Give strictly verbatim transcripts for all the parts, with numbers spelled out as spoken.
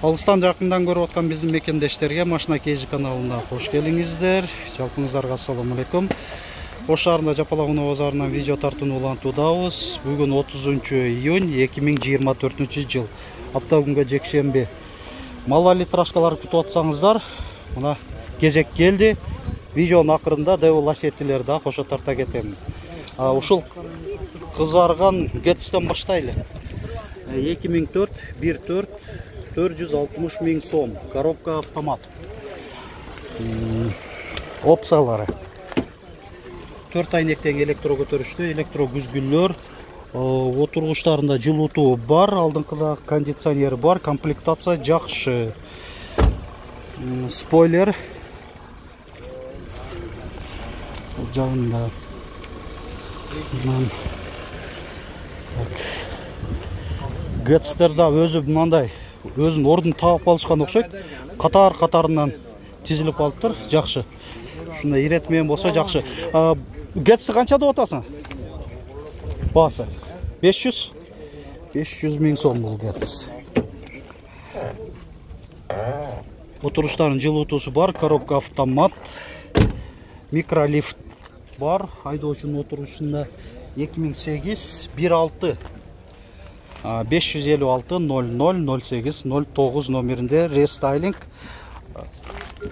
Алыстан жакындан көрүп аткан биздин мекендештерге Машина Кежи каналына кош келиңиздер. Жалпыңыздарга ассаламу алейкум. Ош шаарында Жапалак унаа базарынан видео тартууну улантуудабыз. Бүгүн отузунчу июнь эки миң жыйырма төртүнчү жыл. Апта күнгө жекшемби. Мал литрашкалар күтүп атсаңыздар, мына кезек келди. Видеонун акырында Devil Assetti'лерди да кошо тарта кетем. Ушул кызарган Гетстен баштайлы. эки миң төрт бир төрт төрт жүз алтымыш миң сом. Коробка автомат. Опциялары. төрт айнектен электро көтөрүштүү, электро күзгүлөр, отургучтарында жылытуу бар, алдыңкыда кондиционер бар, комплектация жакшы. Спойлер жагында. Гетстерда өзү мындай өзүнүн ордун таап алышкан окшойт. Катар катарынан тизилип алыптыр, жакшы. Ушундай иретмен болсо жакшы. Гетси канча деп атасың? Баасы беш жүз беш жүз миң сом бул Гетс. Отургучтардын жылытуусу бар, коробка автомат, микролифт бар, айдоочунун отургучунда эки миң сегиз бир алты беш жүз элүү алты ноль ноль ноль сегиз ноль тогуз номеринде рестайлинг.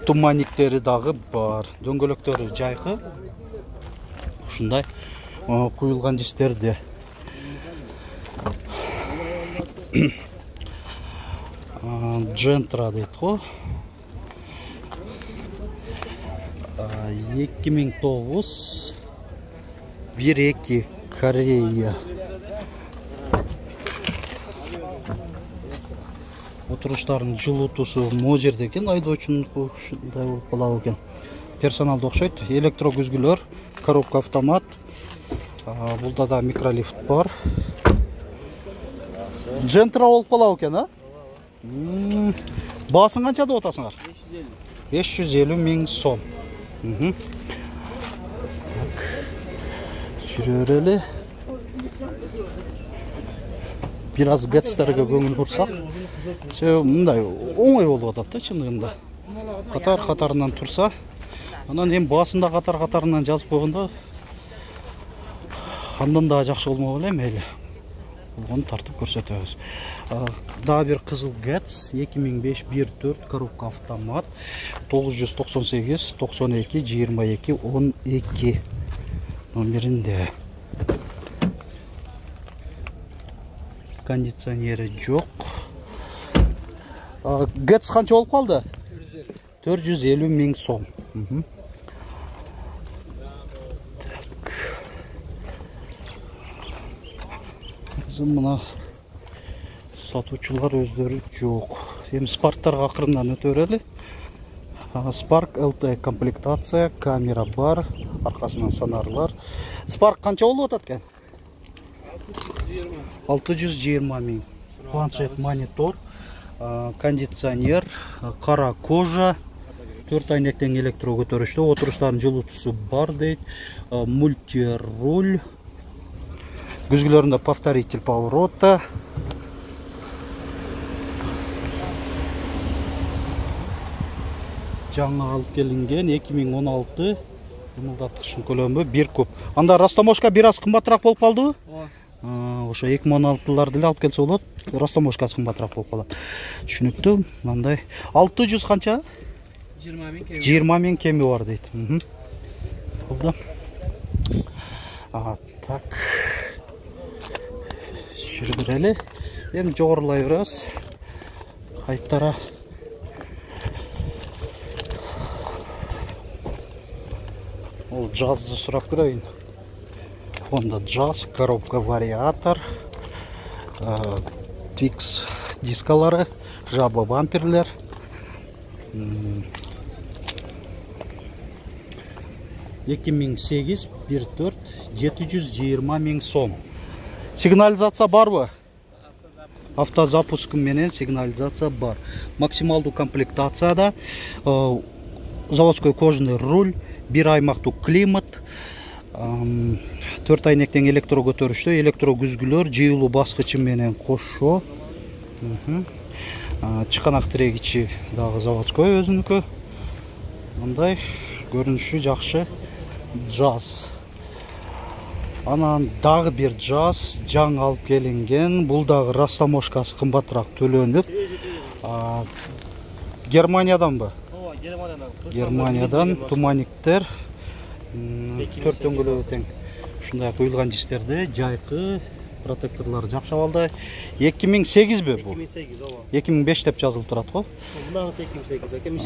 Туманниктери дагы бар. Дөңгөлөктөрү жайкы. Ушундай куюлган дистерде. Джентра дейт го. эки миң тогуз бир эки Корея. Отургучтардын жылытуусу могу жерде экен, айдоочунун ушундай болуп калабы экен. Персоналды окшойт, электро күзгүлөр, коробка автомат. Булда да микролифт бар. Джентра болуп калабы экен, а? Баасын канча деп атасыңар? беш жүз элүү миң сом. Жүрө берели. Бир аз Гетстерге көңүл бурсак, себеби мындай оңой болуп атат да чындыгында. Катар катарынан турса, анан эми баасында катар катарынан жазып койгондо андан да жакшы болмок эле мейли. Болгону тартып көрсөтөбүз. Дагы бир кызыл Гетс эки миң беш бир төрт коробка автомат тогуз жүз токсон сегиз токсон эки жыйырма эки он эки номеринде. Кондиционери жок. Гетс канча болуп калды? төрт жүз элүү миң сом. Мына сатуучулар өздөрү жок. Эми Спарктарга акырындан өтө берели. Spark эл ти комплектация, камера бар, аркасынан сонарлар. Spark канча болуп атат экен? алты жүз жыйырма миң. Планшет, монитор, кондиционер, кара кожа, төрт айнектен электро көтөрүштүү, отургучтардын жылытуусу бар дейт, мультируль, күзгүлөрүндө повторитель поворота. Жаңы алып келинген эки миң он алты ымылдаткычтын көлөмү бир куб. Анда растаможка бир аз кымбатыраак болуп калдыбы? Ошо эки миң он алтыларды эле алып келсе болот. Растаможкасы кымбатыраак болуп калат. Түшүнүктүү. Мындай алты жүз канча? жыйырма миң кеми. жыйырма миң кеми бар дейт. Болду. А, так. Жүрүп берели. Эми жогорулай беребиз. Кайтара. Ол жазды сурап көрөйүн. Honda Jazz, коробка вариатор, Twix дискалары, жаба бамперлер. эки миң сегиз бир төрт жети жүз жыйырма миң сом. Сигнализация барбы? Автозапуск менен сигнализация бар. Максималдуу комплектацияда заводской кожаный руль, бир аймактуу климат, төрт айнектен электро көтөрүштүү, электро күзгүлөр, жыйылуу баскычы менен кошо. Чыканак тирегичи дагы заводской өзүнүкү. Мындай көрүнүшү жакшы жаз. Анан дагы бир жаз жаңы алып келинген. Бул дагы растаможкасы кымбатыраак төлөнүп. Германияданбы? Ооба, Германиядан. Германиядан туманниктер. Төрт дөңгөлөгү тең. Ушундай куюлган жиштерде жайкы протекторлор жакшабалдай. эки миң сегизби бул? эки миң сегиз, ооба. эки миң беш деп жазылып турат го. Мынагысы эки миң сегиз, эки миң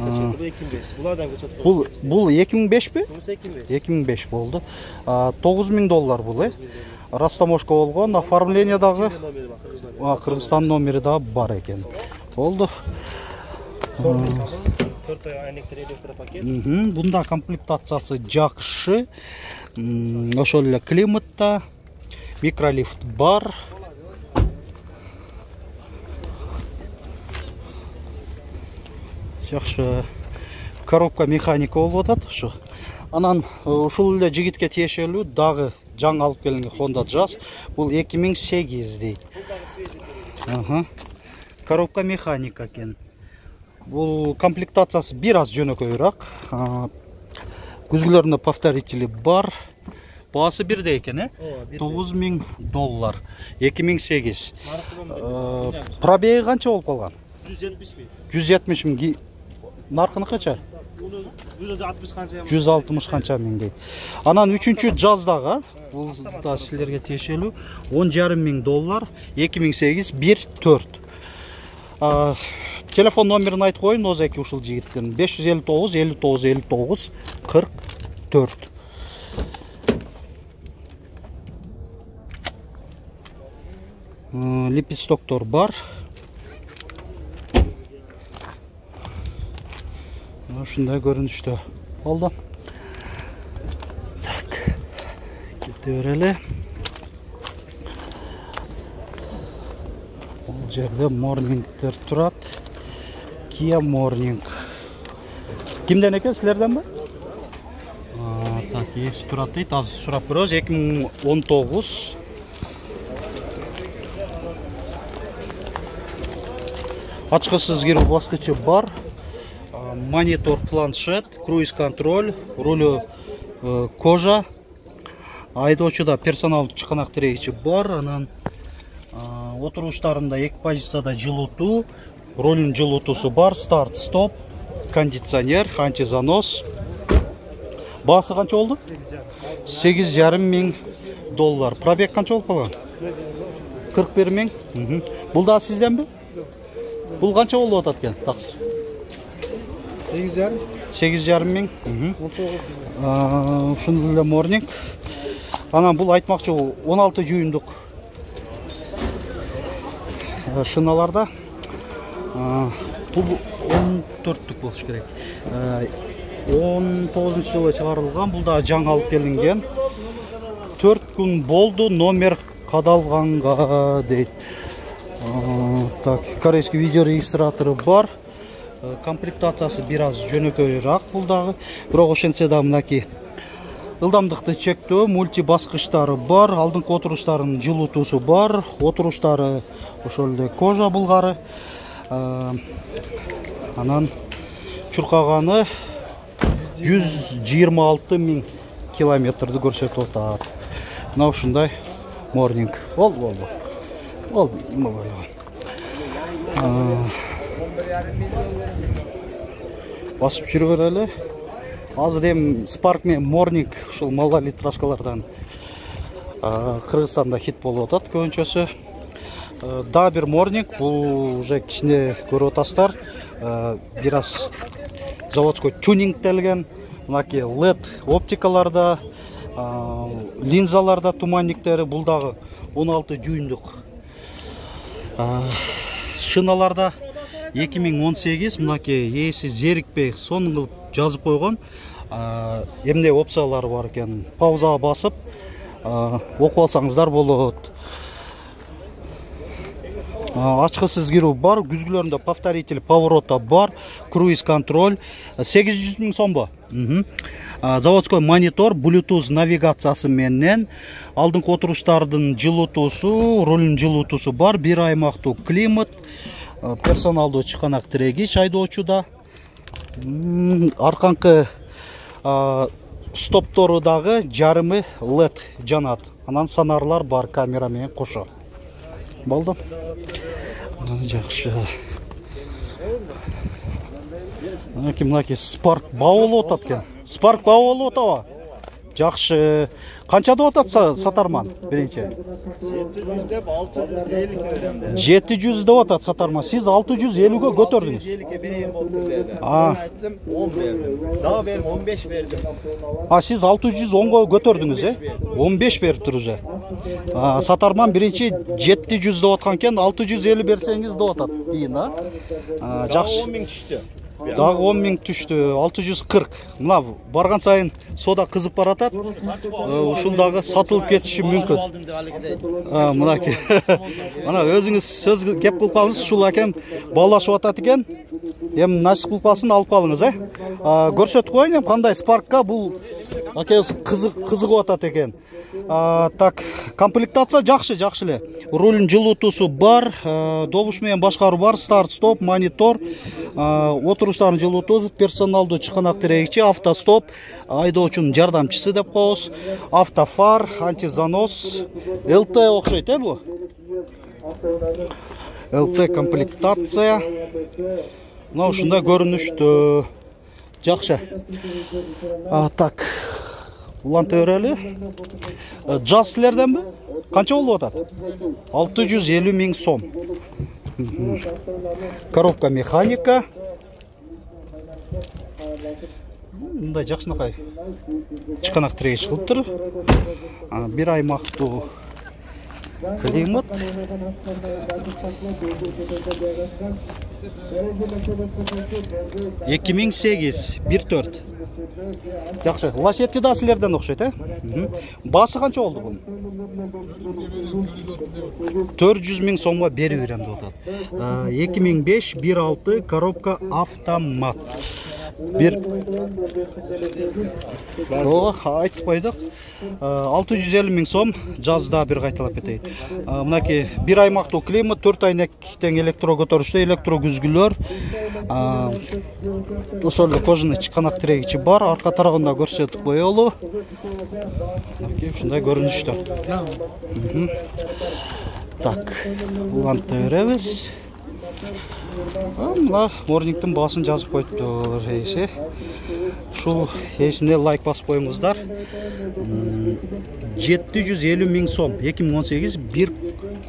беш. Булардан көчөт. Бул бул эки миң бешпи? Бул эки миң беш. эки миң беш болду. тогуз миң доллар бул, э? Растаможка болгон, оформление дагы Кыргызстан номери да бар экен. Болду. төрт ай айнектер электропакет. Бунда комплектациясы жакшы. Ошол эле климатта микролифт бар. Жакшы коробка механика болуп атат ушу. Анан ушул эле жигитке тиешелүү дагы жаңы алып келинген Honda Jazz. Бул эки миң сегиз дейт. Ага. Коробка механика экен. Бул комплектациясы бир аз жөнөкөйрөөк. Күзгүлөрүндө повторители бар. Баасы бирдей экен, э? тогуз миң доллар. эки миң сегиз. Пробеги канча болуп калган? жүз жетимиш миң. жүз жетимиш миң. Наркыны канча? жүз алтымыш канча? жүз алтымыш канча миң дейт. Анан үчүнчү жаздагы, бул да силерге тиешелүү он жарым миң доллар, эки миң сегиз бир төрт. Телефон номерин айтып коеюн озеки ушул жигиттин. беш жүз элүү тогуз элүү тогуз элүү тогуз кырк төрт. Липистоктор бар. Ушундай көрүнүштө. Болду. Так. Кете берели. Бул жерде морнингтер турат. Kia Morning. Кимден экен, силерденби? А, так, эси турат дейт. Азыр сурап көрөбүз. эки миң он тогуз. Ачкысыз кирүү баскычы бар. Монитор, планшет, круиз контроль, рулю кожа. Айдоочуда персонал чыканак тирегичи бар. Анан отуруштарында эки позицияда жылытуу, рулдун жылытуусу бар, старт, стоп, кондиционер, антизанос. Баасы канча болду? сегиз жарым миң доллар. Пробег канча болуп калган? кырк бир миң. Бул да сизденби? Бул канча болуп атат экен? Таксыр. сегиз жарым. сегиз жарым миң. он тогуз. Ушундай эле морнинг. Анан бул айтмакчы он алты жүйүндүк шыналарда. Бул он төрттүк болуш керек. он тогузунчу жылы чыгарылган. Бул да жаңы алып келинген. төрт күн болду, номер кадалганга дейт. Так, корейский видео регистратору бар. Комплектациясы бир аз жөнөкөйрөөк бул дагы. Бирок ошентсе да мынакей ылдамдыкты чектөө, мульти баскычтары бар, алдыңкы отуруштарынын жылытуусу бар, отуруштары ошол эле кожа булгары. Анан чуркаганы жүз жыйырма алты миң километрди көрсөтүп атат. Мына ушундай морнинг. Бол, бол, бол. Бол, нема байлган. Басып жүрүп берели. Азыр эми Spark менен Morning ушул малда литражкалардан Кыргызстанда хит болуп атат көбүнчөсү. Да бир Morning, бул уже кичине көрүп атасыздар. Бир аз заводской тюнингтелген, мынакей лед оптикаларда, линзаларда туманниктери, бул дагы он алты жүйүндүк. Шыналарда эки миң он сегиз, мынакей ээси зерикпей сонун кылып жазып койгон. Эмне опциялары бар экен. Паузага басып окуп алсаңыздар болот. Ачкысыз кирүү бар, күзгүлөрүндө повторитель поворота бар, круиз контроль. сегиз жүз миң сомбу? Заводской монитор, Bluetooth навигациясы менен, алдыңкы отуруштардын жылытуусу, рулдун жылытуусу бар, бир аймактуу климат, персоналдуу чыканак тирегич айдоочуда. Арканкы стоптору дагы жарымы лед жанат. Анан сонарлар бар, камера менен кошо. Болду. Жакшы. Мынакей Spark баа болуп атат экен. Spark баа болуп атабы? Жакшы. Канча деп атат сатарман биринчи? жети жүз деп атат сатарман. Сиз алты жүз элүүгө көтөрдүңүз. алты жүз элүүгө берейин болду деди. Аны айттым, он бердим. Дагы берим, он беш бердим. А сиз алты жүз онго көтөрдүңүз, э? он беш бериптир уже. А сатарман биринчи жети жүз деп аткан экен, алты жүз элүү берсеңиз деп атат. Кийин, а? Жакшы. он миң түштү. Дагы он миң түштү, алты жүз кырк. Мына барган сайын сода кызып баратат. Ушул дагы сатылып кетиши мүмкүн. А, мынакей. Мына өзүңүз сөз кеп кылып калыңыз, ушул акем баалашып атат экен. Эми насип кылып калсын, алып калыңыз, э? Көрсөтүп коеюн, эми кандай Spark'ка бул акебиз кызыгып атат экен. Так, комплектация жакшы, жакшы эле. Рулдун жылытуусу бар, добуш менен башкаруу бар, старт-стоп, монитор, отуруштардын жылытуусу, персоналдуу чыканак тирегичи, автостоп, айдоочунун жардамчысы деп коебуз, автофар, антизанос, эл тэ окшойт, э бу? эл тэ комплектация. Мына ушундай көрүнүштө. Жакшы. Так. Уланта берели. Жаз силерденби? Канча болуп атат? алты жүз элүү миң сом. Коробка механика. Мындай жакшынакай чыканак тирегич кылыптыр. Бир аймактуу климат. эки миң сегиз, бир төрт. Жакшы. Лашетти да силерден окшойт, э? Баасы канча болду бунун? төрт жүз миң сомго берип берем деп атат. эки миң беш, бир алты, коробка автомат. Бир О, айтып койдук. алты жүз элүү миң сом, жазда бир кайталап кетейин. Мынакей бир аймактуу климат, төрт айнек тең электро көтөрүштө, электро күзгүлөр. Ошол эле кожаный чыканак тирегичи бар, арка тарабында көрсөтүп коелу. Мынакей ушундай көрүнүштө. Так, уланта беребиз. Мына морнингтин баасын жазып коюптур, эсе. Ушул эсине лайк басып коюңуздар. жети жүз элүү миң сом, эки миң он сегиз, бир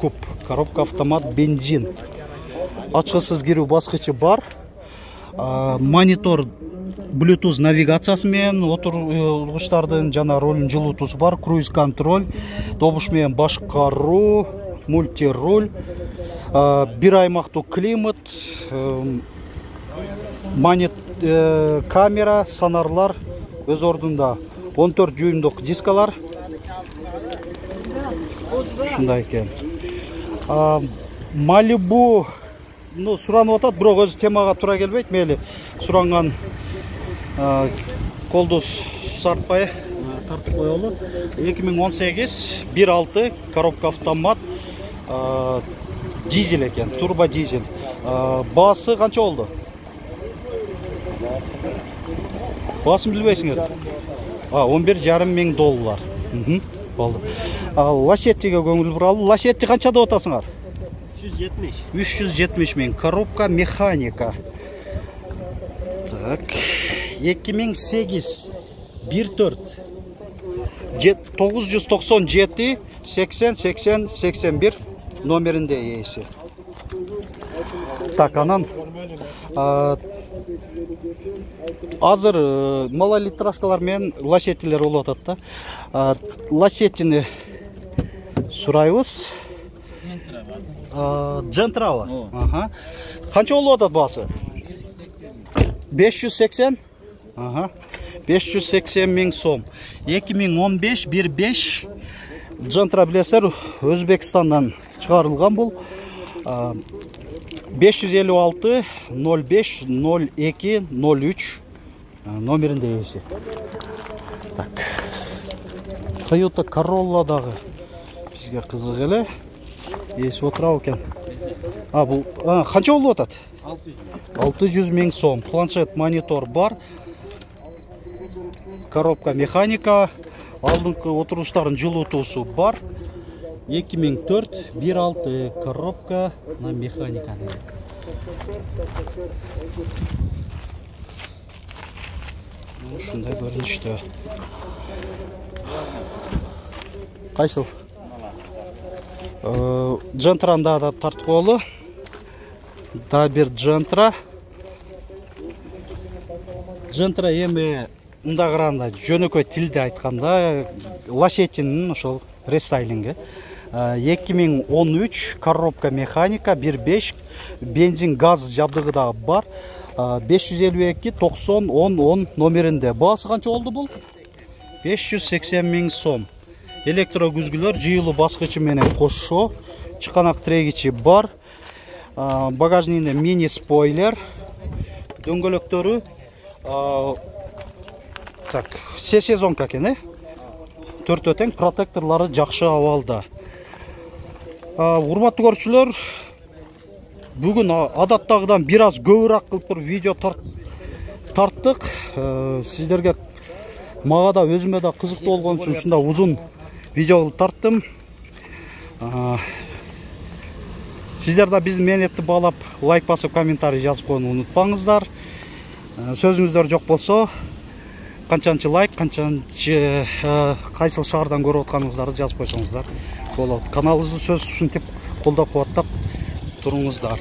куб, коробка автомат, бензин. Ачкысыз кирүү баскычы бар. Монитор, Bluetooth навигациясы менен, отургучтардын жана рулдун жылытуусу бар, круиз контроль, добуш менен башкаруу, мультируль, бир аймактуу климат, монит камера, сонарлар өз ордунда, он төрт дюймдук дискалар. Ушундай экен. Malibu, ну, суранып атат, бирок өзү темага туура келбейт, мейли суранган колду сартпай тартып коелу. эки миң он сегиз, бир алты, коробка автомат, дизель экен, турбо дизель. Баасы канча болду? Баасын билбейсиңер? он бир жарым миң доллар. Болду. Лашеттиге көңүл буралы. Лашетти канча деп атасыңар? үч жүз жетимиш. үч жүз жетимиш миң. Коробка механика. Так. эки миң сегиз, бир төрт. тогуз жүз токсон жети, сексен, сексен, сексен бир номеринде ээси. Так, анан азыр малолитражкалар менен лашеттилер болуп атат да. Лашеттини сурайбыз. Джентрава. Ага. Канча болуп атат баасы? беш жүз сексен? Ага. беш жүз сексен миң сом. эки миң он беш, бир беш. Джентра билесиздер, Өзбекстандан чыгарылган бул. беш жүз элүү алты, ноль беш, ноль эки, ноль үч. номеринде ээси. Так. Toyota Corolla дагы бизге кызык эле. Ээси отурабы экен. А, бул канча болуп атат? алты жүз миң сом. Планшет, монитор бар. Коробка механика. Алдыңкы отуруштардын жылытуусу бар. эки миң төрт бир алты коробка на механика. Ушундай көрүнүштө. Кайсыл? Джентранда да тарткылуу. Да бир Джентра. Джентра эми мында караганда жөнөкөй тилде айтканда лашетинин ошол рестайлинги. эки миң он үч коробка механика бир беш бензин газ жабдыгы да бар. беш жүз элүү эки токсон он он номеринде. Баасы канча болду бул? беш жүз сексен миң сом. Электро күзгүлөр жыйылуу баскычы менен кошо. Чыканак трегичи бар. Багажнине мини спойлер. Дөңгөлөктөрү так, все сезонка экен, э? Төртөө тең, протекторлары жакшы абалда. Урматтуу көрүүчүлөр, бүгүн адаттагыдан бир аз көбүрөөк кылып бир видео тарттык. Сиздерге мага да өзүмө да кызыктуу болгон үчүн ушундай узун видео тарттым. Сиздер да биздин мээнетти баалап, лайк басып, комментарий жазып койууну унутпаңыздар. Сөзүңүздөр жок болсо, канчанчы лайк, канчанчы кайсыл шаардан көрүп атканыңыздарды жазып койсоңуздар болот. Каналыбызды сөз ушинтип колдоп кубаттап туруңуздар.